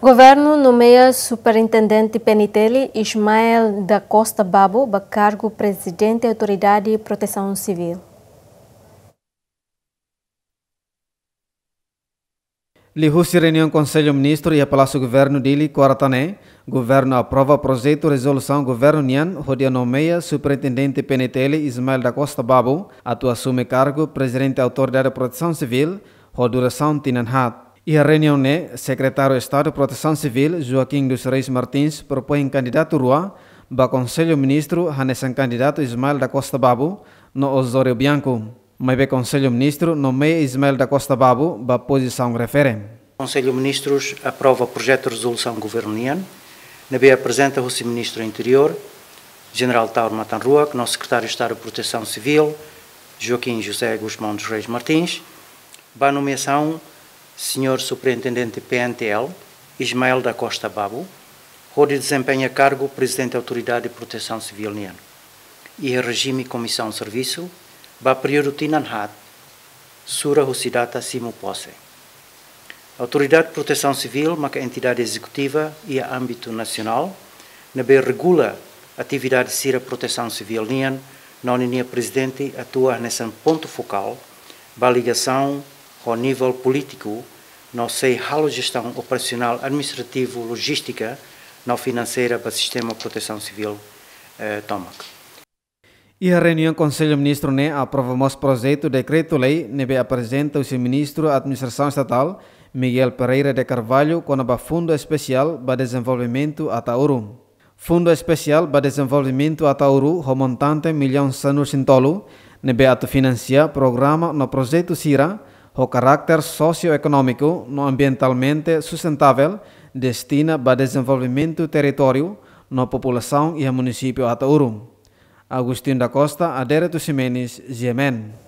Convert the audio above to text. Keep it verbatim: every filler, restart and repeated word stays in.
Governu nomeia Superintendente P N T L Ismael da Costa Babo ba kargu Prezidente Autoridade Protesaun Sivíl. Liuhusi reuniaun Konsellu Ministru iha Palásiu Governu Dili, kuarta ne'e, Governu aprova projetu rezolusaun Governu nian hodi nomeia Superintendente P N T L Ismael da Costa Babo atu asume kargu Prezidente Autoridade Protesaun Sivíl ho durasaun tinan haat. Iha reuniaun ne'e, Sekretáriu Estadu Protesaun Sivíl, Joaquim dos Reis Martins, propoin kandidatu rua ba Konsellu Ministru hanesan kandidatu Ismael da Costa Babo no Osório Bianco. Maibé Konsellu Ministru nomeia Ismael da Costa Babo ba pozisaun refere. Konsellu Ministrus aprova projetu rezolusaun Governu nian, ne'ebé aprezenta husi Ministru Interiór, Jenerál Taur Matan Ruak, no Sekretáriu Estadu Protesaun Sivíl, Joaquim José Gusmão dos Reis Martins, ba nomeasaun Señór Superintendente P N T L, Ismael da Costa Babo, hodi dezempeña kargu Prezidente Autoridade Protesaun Sivíl nian, iha rejime komisaun servisu, ba períodu tinan haat, sura husi data simu pose. Autoridade Protesaun Sivíl maka entidade ezekutiva iha ámbitu nasionál, ne'ebé regula atividade sira protesaun sivíl nian, no ninia prezidente atua hanesan pontu fokál ba ligasaun ho nivel polítiku, no sei halo jestaun operasionál, administrativu, lojístika no finanseira ba sistema protesaun sivíl, eh, tomak. Iha reuniaun Konsellu Ministru ne'e aprova mós projetu dekretu-lei ne'ebé aprezenta husi Ministru Administrasaun Estatál, Miguel Pereira de Carvalho, kona-ba Fundu Espesiál ba Dezenvolvimentu Ataúru. Fundu Espesiál ba Dezenvolvimentu Ataúru ho montante millaun sanulu-resin-tolu, ne'ebé atu finansia programa no projetu sira ho karakter sosioekonómiku no ambientalmente sustentável, destina ba dezenvolvimentu territóriu no populasaun iha munisípiu Ataúru. Agostinho da Costa, Adérito Ximenes, G M N.